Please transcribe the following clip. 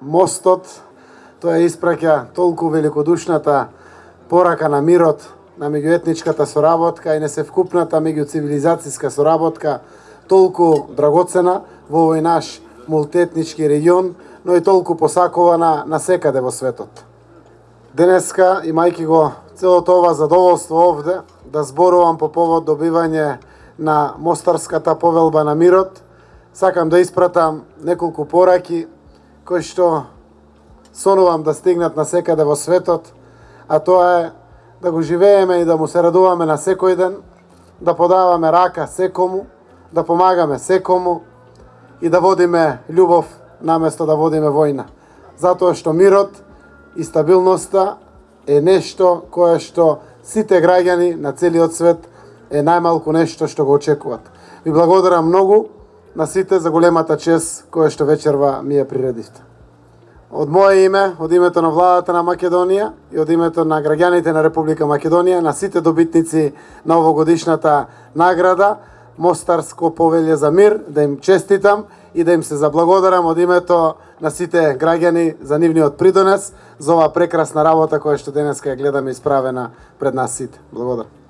мостот, тоа испраќа толку великодушната порака на мирот, на меѓуетничката соработка и несевкупната меѓуцивилизацијска соработка, толку драгоцена во овој наш мултиетнички регион, но и толку посакувана насекаде во светот. Денеска, имајќи го целото ова задоволство овде, да зборувам по повод добивање на Мостарската повелба на мирот, сакам да испратам неколку пораки кои што сонувам да стигнат насекаде во светот, а тоа е да го живееме и да му се радуваме на секој ден, да подаваме рака секому, да помагаме секому и да водиме љубов наместо да водиме војна. Затоа што мирот и стабилноста е нешто кое што сите граѓани на целиот свет е најмалку нешто што го очекуваат. Ви благодарам многу на сите за големата чест која што вечерва ми ја приредивте. Од моје име, од името на владата на Македонија и од името на граѓаните на Република Македонија, на сите добитници на овогодишната награда Мостарско повеќе за мир, да им честитам и да им се заблагодарам од името на сите граѓани за нивниот придонес за оваа прекрасна работа која што денеска ја гледаме исправена пред нас сите. Благодарам.